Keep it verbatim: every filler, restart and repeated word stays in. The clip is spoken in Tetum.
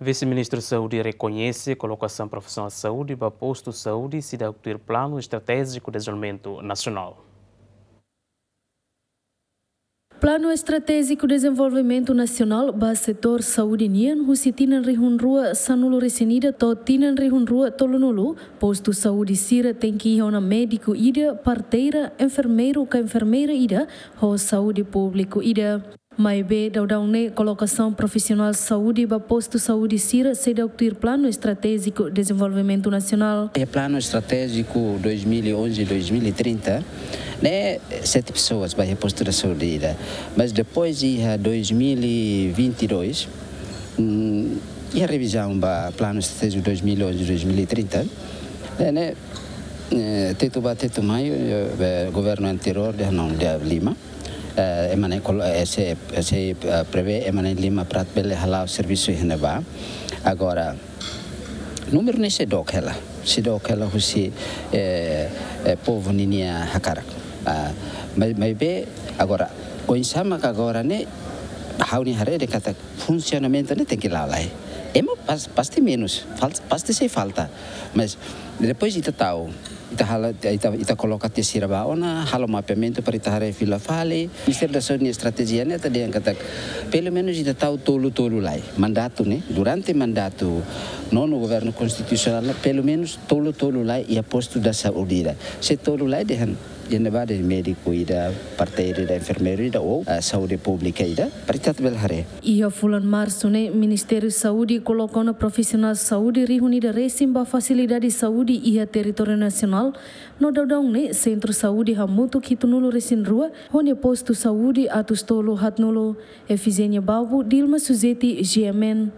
Vise-Ministru Saúde rekoñese kolokasaun profisionál saúde ba postu saúde seidauk tuir Planu Estratéjiku Dezenvolvimentu Nasionál. Planu Estratéjiku Dezenvolvimentu Nasionál ba setór saúde nian, husi tinan rihun rua sanulu-resin-ida to'o tinan rihun rua tolunulu, postu saúde sira tenke iha ona médiku ida, parteira, enfermeiru ka enfermeira ida, ho saúde públiku ida. Maibé daudaun ne'e kolokasaun profisionál saúde ba postu saúde sira seidauk tuir Planu Estratéjiku Dezenvolvimentu Nasionál. Iha Planu Estratéjiku dois mil e onze, dois mil e trinta, ne'e sete pessoas ba iha postu da saúde ida. Mas depois iha dois mil e vinte e dois, hum, iha revizaun ba Planu Estratéjiku dois mil e onze, dois mil e trinta, ne'e, ne'e, eh, tetu ba tetu mai, eh, governu anteriór dehan não, dehan lima. Eh, ema na'in kolo-, eh, sei, sei, eh, prevee ema na'in lima para atu bele hala'o servisu iha ne'ebá. Agora, númeru ne'e seidauk hela, seidauk hela husi, eh, eh, povu ninia hakarak. Ah, mai, maibé, agora, oinsá mak agora ne'e, ha'u-nia haree dehan katak funsionamentu ne'e tenke la'o lai. Ema pas-, pasti menus, fal-, pasti sei falta. Mas depois ita tau, ita halo, ita, ita koloka tiha sira ba ona, halo mapeamentu para ita haree fila fali. Ministériu da Saúde nia estratéjia ne'e atu dehan katak, pelumenus ita tau tolu-tolu lai. Mandatu ne'e, durante mandatu nonu governu konstitusionál ne'e, pelumenus tolu-tolu lai iha postu da saúde ida. Se tolu lai dehan, iha ne'ebá dehan médiku ida, parteira ida, enfermeiru ida, ou, ah, saúde públika ida, para ita atu bele haree. Iha fulan Marsu ne'e, Ministériu Saúde koloka ona profisionál saúde rihun ida resin ba fasilidade saúde iha territóriu nasionál, no daudaun ne'e Sentru Saúde hamutuk hitunulu-resin-rua, ho nia postu saúde atus tolu haatnulu. Efizénia Balbo, Dilma Suzeti, G M N.